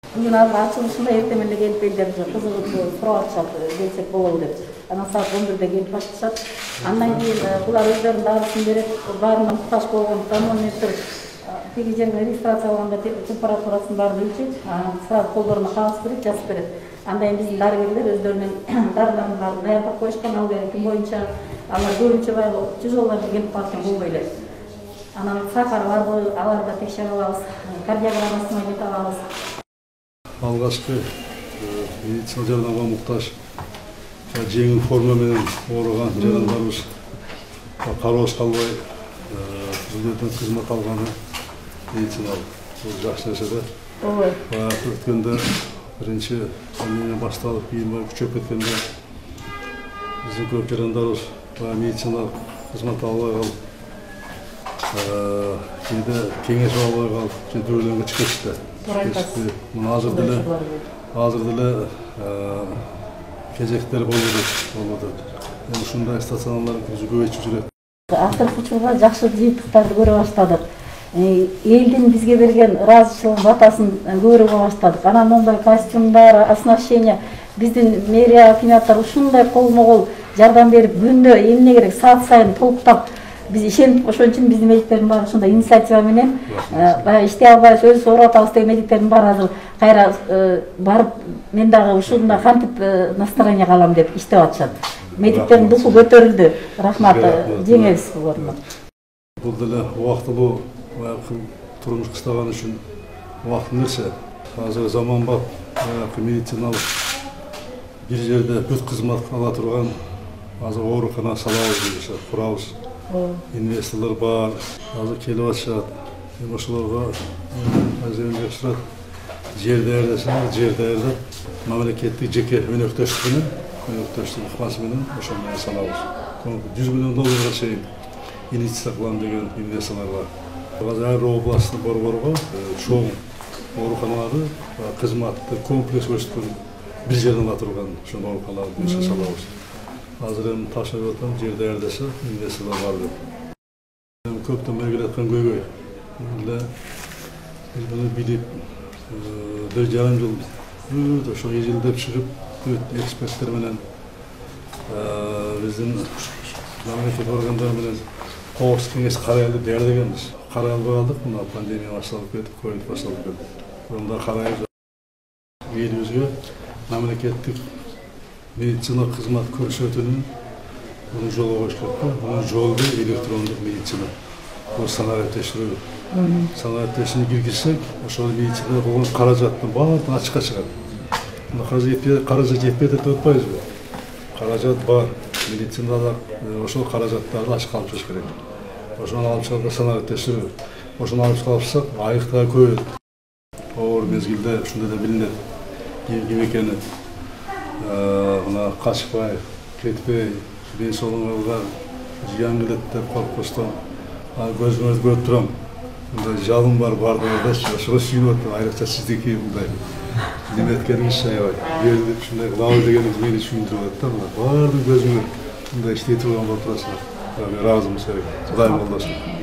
Бүгүн азыр ачылышында эртең эле келип элдер кызыгып сурап атышат, келсек болобу деп. Анан саат 11-де келип башташат. Андан кийин булар өздөрүнүн дагысын берет, баарына муктаж болгон тонометр тиги жерге регистрация алганда температурасын баарын өлчөйт, сразу колдоруна кагаз берет, жазып берет. Андан кийин биздин дарыгерлер өздөрүнүн дарыларын баарын даярдап коюшкан, ал беретин боюнча алар көбүнчө баягы тяжелолорду келип калат болбой эле. Анан сахар барбы, аларды текшерип алабыз, кардиограммасын ойнотуп алабыз. Алгачкы медицина жардамга муктаж жеңил форма менен ооруган жарандарыбыз кароосуз калбай түзүлөтүн кызмат алганы медициналык жакшы нерсе да. Ооба. Баягы өткөндө биринчи пандемия башталып, кийин күчөп кеткенде биздин көп жарандарыбыз медициналык кызмат албай калып, кээде кеңеш албай калып, дөөлөнгө чыгып кетишти. Мына азыр деле кезектер болууда. Ушундай стационарларды көбөйтүп жүрөт. Акыркы учурда жакшы жыйынтыктарды көрө баштадык. Элдин бизге берген ыраазычылык батасын көрүп баштадык. Анан моундай костюмдар, оснащение биздин мэрия акиматтар ушундай колмо-кол жардам берип, күндө эмне керек саат сайын толуктап биз ишенип, ошон үчүн биздин медиктердин баары ушундай инициатива менен баягы иштей албайбыз, өзүбүз ооруп атабыз деген медиктердин баары азыр кайра барып, мен дагы ушундай кантип настроение алам деп иштеп атышат. Медиктердин духу көтөрүлдү. Рахмат, жеңебиз буларны. Бул деле убактылуу турмуш кыстаган үчүн убактылуу нерсе. Азыр заманбап медициналык бир жерде бүт кызмат ала турган азыр оорукана салабыз, курабыз. Инвесторлор бар, азыр келип атышат. Ошолорго азырынча сурат жер даярдасаңар, жер даярдап, мамлекеттик жеке өнөктөштүк ыкмасы менен ошондой салабыз. 100 миллион долларга чейин инвестиция кылам деген инвесторлор бар. Азыр ар областтын борборго чоң ооруканаларды кызматты комплекс көрсөткөн бир жерден ала турган ошондой ооруканаларды салабыз. Азыр эми тапшырып атам, жер даярдаса инвесторлор бар деп. Көптөн бери келаткан көйгөй. Биз муну билип, 1,5 жыл ошо эжелдеп чыгып, эксперттер менен биздин мамлекеттик органдар менен коопсуздук кеңеш карайлы даярдаганбыз. Карай албай калдык, мына пандемия башталып кетип, ковид башталып кетти. Онда карайбыз. Элибизге мамлекеттик медицина кызмат көрсөтүүнүн бул жолу коюш керек. Бул жолу электрондук медицина. Бул санариптештирүү. Санариптештирүүнү киргизсек, ошол медицинада болгон каражаттын баардыгы ачыкка чыгат. Каражат жетпейт деп атпайбызбы? Каражат бар. Медицинада ошол каражаттарды ачыкка алып чыгыш керек. Ошону алып чыгып санариптештирүү. Ошону алып чыгып айык да көбөйөт. Оор мезгилде ушундай да билинет. Ким экени мына качпай, кетпей, ден соолугуңарга зыян келет деп коркпостон көзүңөрдү көрүп турам. Мындай жалын бар бардыгында, ошого сүйүнүп атам. Айрыкча сиздики мындай неметкениңиз аябай. Берилип ушундай кылабыз дегениңиз мени сүйүндүрүп атат да. Бардык көзүңөр мындай иштей турган болуп турасыздар. Ыраазымын. Кудайым колдосун.